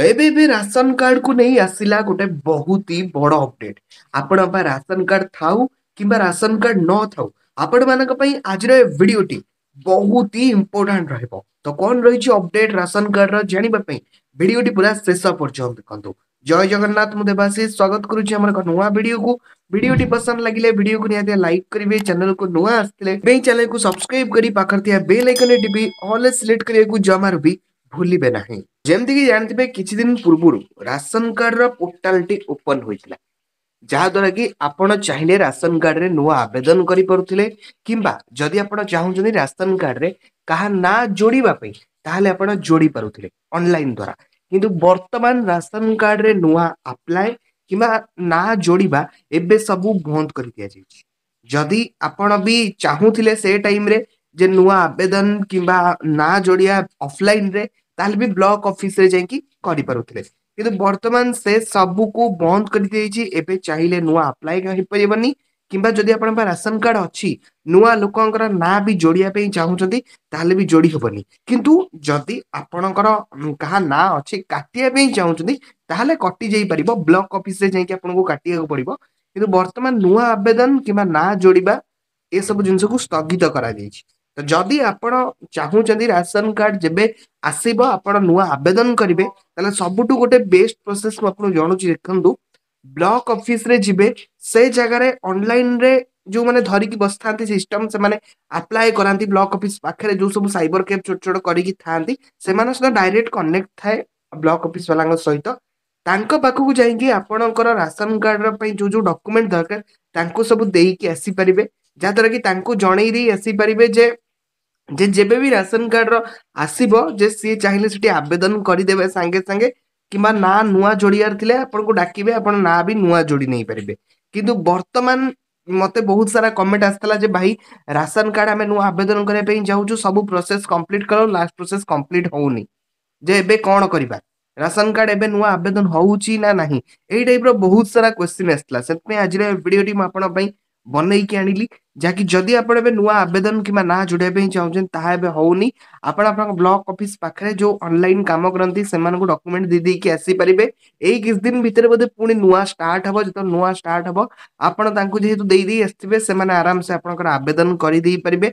ଏବେ ଏବେ ରାସନ କାର୍ଡକୁ ନେଇ ଆସିଲା ଗୋଟେ ବହୁତ ହି ବଡ ଅପଡେଟ। ଆପଣଙ୍କ ପାଇଁ ରାସନ କାର୍ଡ ଥାଉ କିମ୍ବା ରାସନ କାର୍ଡ ନଥାଉ, ଆପଣମାନଙ୍କ ପାଇଁ ଆଜିର ଏ ଭିଡିଓଟି ବହୁତ ହି ଇମ୍ପୋର୍ଟାଣ୍ଟ ରହିବ। ତ କଣ ରହିଛି ଅପଡେଟ ରାସନ କାର୍ଡର, ଜାଣିବା ପାଇଁ ଭିଡିଓଟି ପୁରା ଶେଷ ପର୍ଯ୍ୟନ୍ତ ଦେଖନ୍ତୁ। ଜୟ ଜଗନ୍ନାଥ, ମୁଁ ଦେବାଶିଷ ସ୍ୱାଗତ କରୁଛି ଆମର ଏକ ନୂଆ ଭିଡିଓକୁ। ଭିଡିଓଟି ପସନ୍ଦ ଲାଗିଲେ ଭିଡିଓକୁ ନିହାତି ଲାଇକ୍ କରିବେ। ଚ୍ୟାନେଲକୁ ନୂଆ ଆସିଥିଲେ ଏଇ ଚ୍ୟାନେଲକୁ ସବସ୍କ୍ରାଇବ କରି ପାଖରେ ଥିବା ବେଲ୍ ଆଇକନରେ ଟିପି ଅଲ୍ ସିଲେକ୍ଟ କରିବାକୁ ଜମାରୁ ବି ଭୁଲିବେ ନାହିଁ। ଯେମିତିକି ଜାଣିଥିବେ, କିଛି ଦିନ ପୂର୍ବରୁ ରାସନ କାର୍ଡର ପୋର୍ଟାଲଟି ଓପନ ହୋଇଥିଲା, ଯାହାଦ୍ୱାରା କି ଆପଣ ଚାହିଁଲେ ରାସନ କାର୍ଡରେ ନୂଆ ଆବେଦନ କରିପାରୁଥିଲେ, କିମ୍ବା ଯଦି ଆପଣ ଚାହୁଁଛନ୍ତି ରାସନ କାର୍ଡରେ କାହା ନାଁ ଯୋଡ଼ିବା ପାଇଁ, ତାହେଲେ ଆପଣ ଯୋଡ଼ି ପାରୁଥିଲେ ଅନଲାଇନ ଦ୍ୱାରା। କିନ୍ତୁ ବର୍ତ୍ତମାନ ରାସନ କାର୍ଡରେ ନୂଆ ଆପ୍ଲାଏ କିମ୍ବା ନାଁ ଯୋଡ଼ିବା ଏବେ ସବୁ ବନ୍ଦ କରି ଦିଆଯାଇଛି। ଯଦି ଆପଣ ବି ଚାହୁଁଥିଲେ ସେ ଟାଇମରେ ଯେ ନୂଆ ଆବେଦନ କିମ୍ବା ନାଁ ଯୋଡ଼ିବା ଅଫଲାଇନରେ, ତାହେଲେ ବି ବ୍ଲକ ଅଫିସରେ ଯାଇକି କରିପାରୁଥିଲେ। କିନ୍ତୁ ବର୍ତ୍ତମାନ ସେ ସବୁକୁ ବନ୍ଦ କରିଦିଆଯାଇଛି। ଏବେ ଚାହିଁଲେ ନୂଆ ଆପ୍ଲାଏ ହେଇପାରିବନି, କିମ୍ବା ଯଦି ଆପଣଙ୍କ ରାସନ କାର୍ଡ ଅଛି, ନୂଆ ଲୋକଙ୍କର ନାଁ ବି ଯୋଡ଼ିବା ପାଇଁ ଚାହୁଁଛନ୍ତି, ତାହେଲେ ବି ଯୋଡ଼ି ହବନି। କିନ୍ତୁ ଯଦି ଆପଣଙ୍କର କାହା ନାଁ ଅଛି, କାଟିବା ପାଇଁ ଚାହୁଁଛନ୍ତି, ତାହେଲେ କଟି ଯାଇପାରିବ। ବ୍ଲକ ଅଫିସରେ ଯାଇକି ଆପଣଙ୍କୁ କାଟିବାକୁ ପଡିବ। କିନ୍ତୁ ବର୍ତ୍ତମାନ ନୂଆ ଆବେଦନ କିମ୍ବା ନାଁ ଯୋଡ଼ିବା ଏସବୁ ଜିନିଷକୁ ସ୍ଥଗିତ କରାଯାଇଛି। ତ ଯଦି ଆପଣ ଚାହୁଁଛନ୍ତି ରାସନ କାର୍ଡ ଯେବେ ଆସିବ ଆପଣ ନୂଆ ଆବେଦନ କରିବେ, ତାହେଲେ ସବୁଠୁ ଗୋଟେ ବେଷ୍ଟ ପ୍ରୋସେସ ମୁଁ ଆପଣଙ୍କୁ ଜଣାଉଛି। ଦେଖନ୍ତୁ, ବ୍ଲକ ଅଫିସରେ ଯିବେ, ସେ ଜାଗାରେ ଅନଲାଇନରେ ଯୋଉମାନେ ଧରିକି ବସିଥାନ୍ତି ସିଷ୍ଟମ, ସେମାନେ ଆପ୍ଲାଏ କରାନ୍ତି। ବ୍ଲକ ଅଫିସ ପାଖରେ ଯୋଉ ସବୁ ସାଇବର କ୍ୟାଫେ ଛୋଟ ଛୋଟ କରିକି ଥାଆନ୍ତି, ସେମାନଙ୍କ ସହିତ ଡାଇରେକ୍ଟ କନେକ୍ଟ ଥାଏ ବ୍ଲକ ଅଫିସ ବାଲାଙ୍କ ସହିତ। ତାଙ୍କ ପାଖକୁ ଯାଇକି ଆପଣଙ୍କର ରାସନ କାର୍ଡ ପାଇଁ ଯୋଉ ଯୋଉ ଡକୁମେଣ୍ଟ ଦରକାର, ତାଙ୍କୁ ସବୁ ଦେଇକି ଆସିପାରିବେ, ଯାହାଦ୍ୱାରା କି ତାଙ୍କୁ ଜଣେଇ ଦେଇ ଆସିପାରିବେ ଯେ ଯେବେ ବି ରାସନ କାର୍ଡର ଆସିବ, ଯେ ସିଏ ଚାହିଁଲେ ସେଠି ଆବେଦନ କରିଦେବେ ସାଙ୍ଗେ ସାଙ୍ଗେ, କିମ୍ବା ନାଁ ନୂଆ ଯୋଡ଼ିବାର ଥିଲେ ଆପଣଙ୍କୁ ଡାକିବେ, ଆପଣ ନାଁ ବି ନୂଆ ଯୋଡ଼ି ନେଇପାରିବେ। କିନ୍ତୁ ବର୍ତ୍ତମାନ ମତେ ବହୁତ ସାରା କମେଣ୍ଟ ଆସିଥିଲା ଯେ ଭାଇ, ରାସନ କାର୍ଡ ଆମେ ନୂଆ ଆବେଦନ କରିବା ପାଇଁ ଚାହୁଁଛୁ, ସବୁ ପ୍ରୋସେସ କମ୍ପ୍ଲିଟ କର, ଲାଷ୍ଟ ପ୍ରୋସେସ କମ୍ପ୍ଲିଟ ହଉନି, ଯେ ଏବେ କଣ କରିବା, ରାସନ କାର୍ଡ ଏବେ ନୂଆ ଆବେଦନ ହଉଛି ନା ନାହିଁ? ଏଇ ଟାଇପର ବହୁତ ସାରା କ୍ୱେଶ୍ଚିନ୍ ଆସିଥିଲା। ସେଥିପାଇଁ ଆଜିର ଭିଡିଓଟି ମୁଁ ଆପଣଙ୍କ ପାଇଁ ବନେଇକି ଆଣିଲି, ଯାହାକି ଯଦି ଆପଣ ଏବେ ନୂଆ ଆବେଦନ କିମ୍ବା ନାଁ ଯୋଡ଼ିବା ପାଇଁ ଚାହୁଁଛନ୍ତି, ତାହା ଏବେ ହଉନି। ଆପଣ ଆପଣଙ୍କ ବ୍ଲକ ଅଫିସ ପାଖରେ ଯୋଉ ଅନଲାଇନ କାମ କରନ୍ତି, ସେମାନଙ୍କୁ ଡକୁମେଣ୍ଟ ଦେଇ ଦେଇକି ଆସିପାରିବେ। ଏଇ କିଛି ଦିନ ଭିତରେ ବୋଧେ ପୁଣି ନୂଆ ଷ୍ଟାର୍ଟ ହବ। ଯେତେବେଳେ ନୂଆ ଷ୍ଟାର୍ଟ ହବ, ଆପଣ ତାଙ୍କୁ ଯେହେତୁ ଦେଇ ଦେଇ ଆସିଥିବେ, ସେମାନେ ଆରାମସେ ଆପଣଙ୍କର ଆବେଦନ କରିଦେଇ ପାରିବେ।